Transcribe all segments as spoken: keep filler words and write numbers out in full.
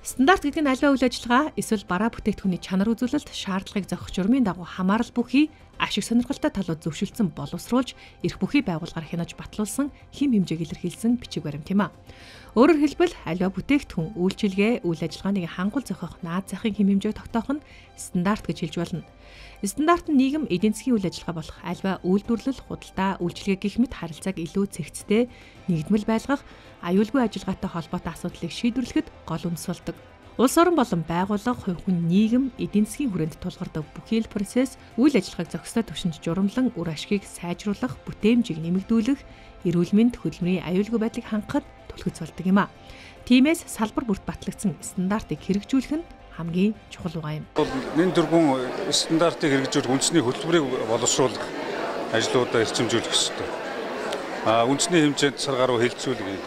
Стандарт гэдэг нь альва үйл ажиллагаа эсвэл бараа бүтээгдэхүүний чанар үзүүлэлт шаардлагыг зохих журмын дагуу хамаарал бүхий ашиг сонирхолтой талууд зөвшөлдсөн боловсруулж эрх бүхий байгууллагаар хянаж батлуулсан хэм хэмжээг илэрхийлсэн бичиг баримт юм а. Өөрөөр хэлбэл альва бүтээгдэхүүн үйлчилгээ үйл ажиллагааны хангул зохих наад захын хэм хэмжээг тогтоох нь стандарт гэж хэлж болно. Стандарт нь нийгэм эдийн засгийн үйл ажиллагаа болох альва үйлдвэрлэл, худалдаа, үйлчилгээ гэх мэт харилцааг илүү цэгцтэй, нэгдмэл байлгах, аюулгүй ажиллагаатай холбоотой асуудлыг шийдвэрлэхэд гол үндэс болдог. Улс орон болон байгууллага, хувь хүн, нийгэм, эдийн засгийн хүрээнд тулгардаг бүхий л процесс үйл ажиллагааг зохистой түвшинд журамлан үр ашгийг сайжруулах, бүтээмжийг нэмэгдүүлэх, эрүүл мэнд, хөдөлмөрийн аюулгүй байдлыг хангахад түлхэц болдог юм а. Тиймээс салбар бүрт батлагдсан стандартыг хэрэгжүүлэх нь хамгийн чухал байгаа юм. Нэн тэргүүн стандартыг хэрэгжүүлэх үндэсний хөтөлбөрийг боловсруулах ажлуудаа эрчимжүүлэх ёстой. А үндэсний хэмжээнд сар гаруй хэлэлцүүлэх.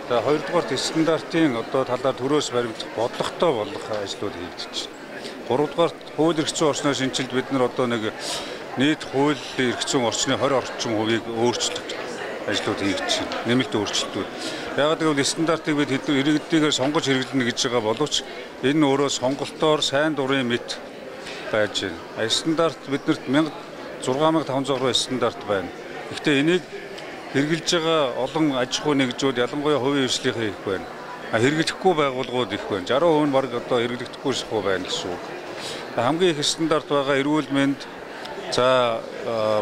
За хоёрдугаар стандартын одоо талаар төрөөс баримтлах бодлоготой болох ажлууд хийгдэж байна. Гуравдугаар хууль эрх зүйн орчноо шинжилж бид нар одоо нэг нийт хууль эрх зүйн орчны хорь орчим хувийг өөрчлөх ажлууд хийгдэж байна. Нэмэлт өөрчлөлтүүд. Яг гэвэл стандартыг бид иргэдийгээр сонгож хэрэглэнэ гэж байгаа боловч энэ өөрөө сонголтоор сайн дурын мэт байж байна. Стандарт биднэрт шесть мянга тавнзаа гаруй стандарт байна. Гэхдээ энийг хэрэгжилж байгаа олон аж ахуй нэгжүүд ялангуяа хувийн эрхлэлийнхээ их байна. А хэрэглэхгүй байгууллагууд их байна. сixty percent нь баг одоо хэрэглэгдэхгүй шахуу байна гэсэн үг. Хамгийн их стандарт байгаа эрүүл мэнд, за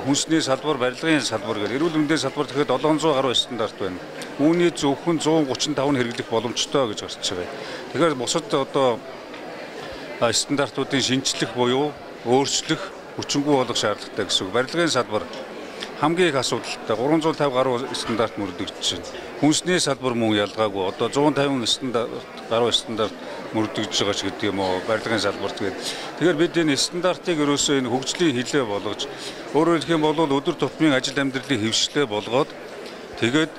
хүнсний салбар, барилгын салбар гэдэг. Эрүүл мэндийн салбар тэгэхэд seven hundred гаруй стандарт байна. Үүний зөвхөн one thirty-five нь хэрэглэх боломжтой гэж гарч байгаа. Тэгэхээр бусад одоо стандартуудын шинжлэх буюу өөрчлөх, хүчингүй болох шаардлагатай гэсэн үг. Барилгын салбар хамгийн их асуудалтай three hundred fifty гаруй стандарт мөрдөгдөж байна. Хүнсний салбар мөн ялгаагүй одоо one fifty стандарт гаруй стандарт мөрдөгдөж байгаа ч гэдэг юм уу, барилгын салбарт гэдэг. Тэгэхээр бид энэ стандартыг ерөөсөө энэ хөгжлийн хилээ болгож, өөрөөр хэлэх юм бол өдөр тутмын ажил амьдралыг хэвшлээ болгоод тэгээд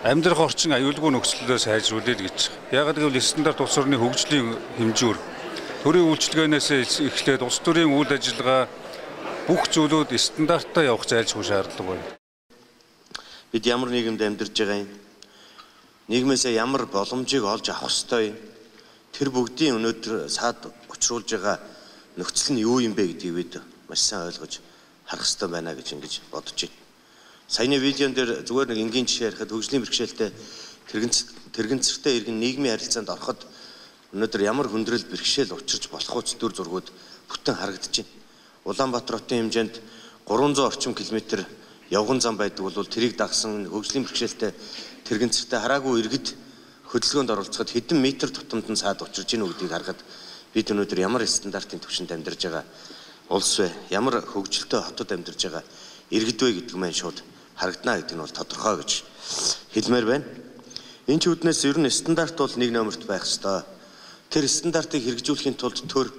амьдрах орчин аюулгүй нөхцөлөө сайжруулъя гэж. Яг гэвэл стандарт улс орны хөгжлийн хэмжүүр төрийн үйлчилгээнээс эхлээд улс төрийн үйл ажиллагаа бүх зүйлүүд стандарттай явах зайлшгүй шаардлага байна. Бид ямар нийгэмд амьдарч байгаа юм? Нийгмээсээ ямар боломжийг олж авах ёстой юм? Тэр бүгдийн өнөөдөр саад учруулж байгаа нөхцөл нь юу юм бэ гэдгийг бид маш сайн ойлгож харах ёстой байна гэж ингэж бодож байна. Саяны видеон дээр зүгээр нэг энгийн жишээ ярихад хөгжлийн бэрхшээлтэй тэрэгцэртэй иргэн нийгмийн харилцаанд ороход өнөөдөр ямар хүндрэл бэрхшээл учирч болох үс дүр зургууд бүтэн харагдаж байна. Улаанбаатар хотын хэмжээнд three hundred орчим километр явган зам байдаг бол тэрийг дагсан хөгжлийн бэрхшээлтэй тэрэгцэртэй хараагүй иргэд хөдөлгөөнд оролцоход хэдэн метр тутамд нь саад учирж ийн гэдгийг харахад бид өнөөдөр ямар стандартын түвшинд амьдарч байгаа улс вэ? Ямар хөгжилтэй хотод амьдарч байгаа иргэд вэ гэдэг маань шууд харагдана гэдэг нь бол тодорхой гэж хэлмээр байна. Энэ ч үднээс ер нь стандарт бол нэг номерт байх ёстой. Тэр стандартыг хэрэгжүүлэхийн тулд төр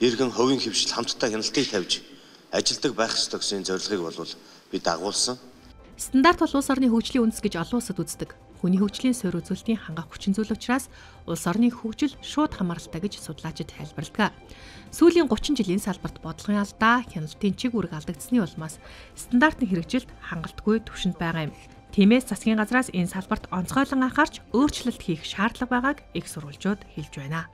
иргэн хувийн хөвшил хамтдаа хяналтыг тавьж ажилдаг байх ёстой гэсэн зорилгыг бол би дагуулсан. Стандарт бол улс орны хөгжлийн үндэс гэж олон улсад үздэг. Хүний хөгжлийн суурь үзүүлэлтийн хангах хүчин зүйл учраас улс орны хөгжил шууд хамааралтай гэж судлаачид тайлбарладаг. Сүүлийн thirty жилийн салбарт бодлогын алдаа, хяналтын чиг үүрэг алдагдсны улмаас стандартын хэрэгжилт хангалтгүй түвшинд байгаа юм. Тиймээс засгийн газраас энэ салбарт онцгойлон анхаарч өөрчлөлт хийх шаардлага байгааг их сурвалжууд хэлж байна.